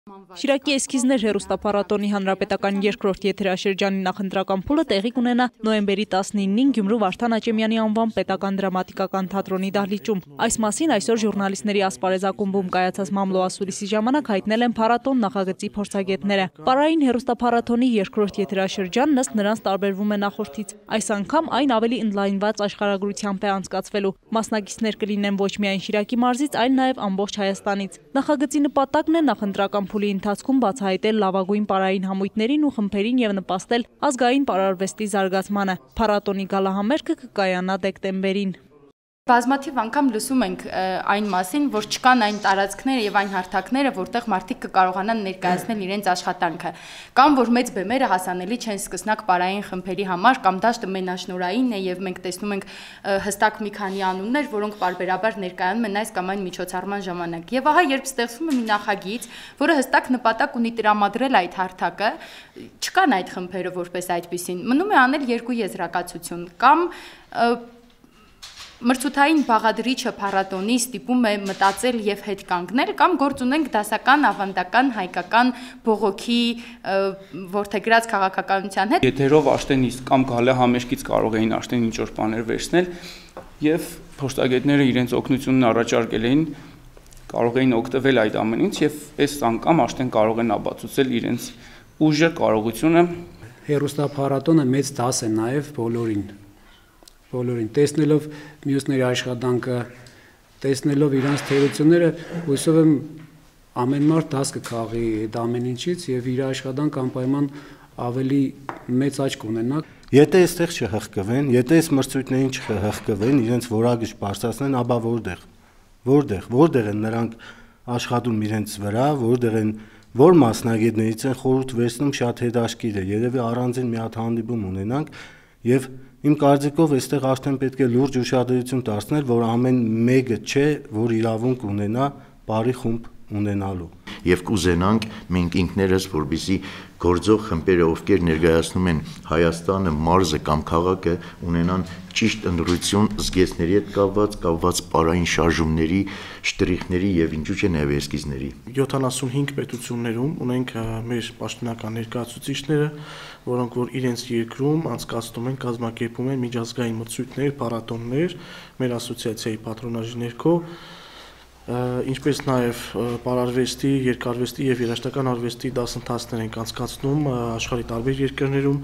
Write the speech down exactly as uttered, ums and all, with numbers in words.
Շիրակի էսքիզներ հեռուստափառատոնի հանրապետական երկրորդ եթերաշրջանի նախընտրական փուլը տեղի կունենա նոյեմբերի տասնինին Գյումրու Վարդան Աճեմյանի անվան պետական դրամատիկական թատրոնի դահլիճում։ Այս մասին այսօր ժուրնալիստների ասպարեզ ակումբում կայացած մամլոասուլիսի ժամանակ հայտնել են փառատոն նախագծի փորձագետները։ Պարային հեռուստափառատոնի երկրորդ եթերաշրջանն ըստ նրանց տարբերվում է նախորդից։ Այս անգամ այն ավելի ընդլայնված աշխարհագրությամբ է անցկացվելու։ Մասնակիցներ կլինեն ոչ միայն Շիրակի մարզից, այլ նաև ամբողջ Հայաստանից։ Նախագծի նպատակն է նախընտրական փուլի ընթացքում բացահայտել լավագույն պարային համույթներին ու խմբերին եւ նպաստել ազգային պարարվեստի զարգացմանը։ Փառատոնի գալահամերգը կկայանա դեկտեմբերին։ Բազմաթիվ անգամ լսում ենք այն մասին, որ չկան այն տարածքները եւ այն հարթակները, որտեղ մարդիկ կկարողանան ներկայացնել իրենց աշխատանքը, կամ որ մեծ բեմերը հասանելի չեն սկսնակ պարային խմբերի համար, կամ դաշտը մենաշնորհային է եւ մենք տեսնում ենք հստակ մի քանի անուններ, որոնք պարբերաբար ներկայանում են այս կամ այն միջոցառման ժամանակ։ Եվ ահա երբ ստեղծվում է մի նախագիծ, որը հստակ նպատակ ունի տրամադրել այդ հարթակը, չկան այդ խմբերը որպես այդպիսին, մնում է անել երկու եզրակացություն, կամ մրցութային բաղադրիչը փառատոնի ստիպում է մտածել եւ հետ կանգնել, կամ գործ ունենք դասական, ավանդական, հայկական բողոքի ворթեգրած քաղաքականության հետ։ Եթերով Աշտեն իսկ կամ գալը համերգից կարող էին Աշտեն ինչ-որ բաներ վերցնել եւ փոստագետները իրենց օգնությունն առաջարկել էին, կարող էին օգտվել այդ ամենից եւ այս անգամ Աշտեն կարող են ապացուցել իրենց ուժը, կարողությունը։ Հեռուստափառատոնը մեծ դաս է նաեւ բոլորին։ Բոլորին տեսնելով մյուսների աշխատանքը, տեսնելով իրանց թերությունները, հույսով եմ ամեն մարդ դաս կքաղի այդ ամեն ինչից եւ իր աշխատանքը անպայման ավելի մեծ աճ կունենա։ Եթե այստեղ չհղկվեն, եթե այս մրցույթներին չհղկվեն, իրենց որակը չբարձրացնեն, ապա որտեղ։ Որտեղ, որտեղ են նրանք աշխատում իրենց վրա, որտեղ են որ մասնագետներից են խորհուրդ վերցնում շատ հետաքրքիր է։ Երևի առանձին մի հատ հանդիպում ունենանք եւ իմ կարծիքով այստեղ արդեն պետք է լուրջ ուշադրություն դարձնել, որ ամեն մեկը չէ, որ իրավունք ունենա բարի խումբ ունենալու։ Եվ կուզենանք մենք ինքներս, որպեսզի գործող խմբերը, ովքեր ներկայացնում են Հայաստանը, մարզը կամ քաղաքը, ունենան ճիշտ ընդրություն զգեստների հետ կապված, կապված պարային շարժումների, շտրիխների եւ ինչու՞ չէ նաեւ էսքիզների։ յոթանասունհինգ պետություններում ունենք մեր պաշտոնական ներկայացուցիչները, որոնք որ իրենց երկրում անցկացնում են, կազմակերպում են միջազգային մրցույթներ, փառատոններ, մեր ասոցիացիայի պատրոնաժի ներքո, ինչպես նաև պարարվեստի, երկարվեստի եւ երաժշտական արվեստի դասընթացներ ենք անցկացնում աշխարհի տարբեր երկրներում։